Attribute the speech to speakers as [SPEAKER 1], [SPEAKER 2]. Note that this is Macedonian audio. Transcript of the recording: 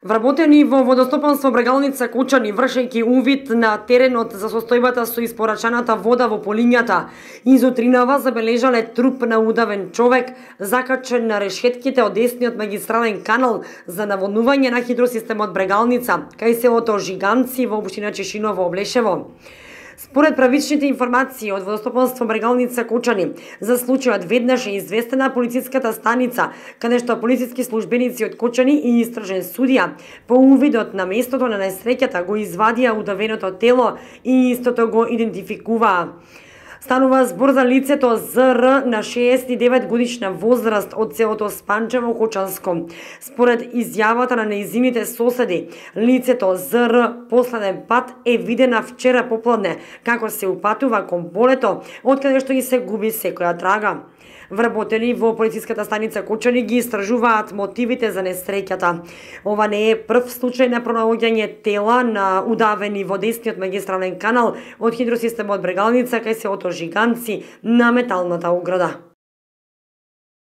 [SPEAKER 1] Вработени во водостопанство Брегалница Кочани, вршејќи увид на теренот за состојбата со испорачаната вода во полињата, изутринава забележале труп на удавен човек, закачен на решетките од десниот магистрален канал за наводнување на хидросистемот Брегалница, кај селото Жиганци во општина Чешиново, Облешево. Според правичните информации од водостопанство Брегалница Кочани, за случајот веднаш е известена полициската станица, каде што полициски службеници од Кочани и истражен судија по увидот на местото на несреќата го извадија удавеното тело и истото го идентификуваа. Станува збор за лицето ЗР на 69 годишна возраст од селото Спанчево, Кочанско. Според изјавата на нејзините соседи, лицето ЗР последен пат е видена вчера попладне како се упатува кон полето, откаде што ги се губи секоја трага. Вработени во полициската станица Кочани ги истражуваат мотивите за несреќата. Ова не е прв случај на пронаоѓање тела на удавени во десниот магистрален канал од хидросистемот Брегалница кај селото Жиганци на металната ограда.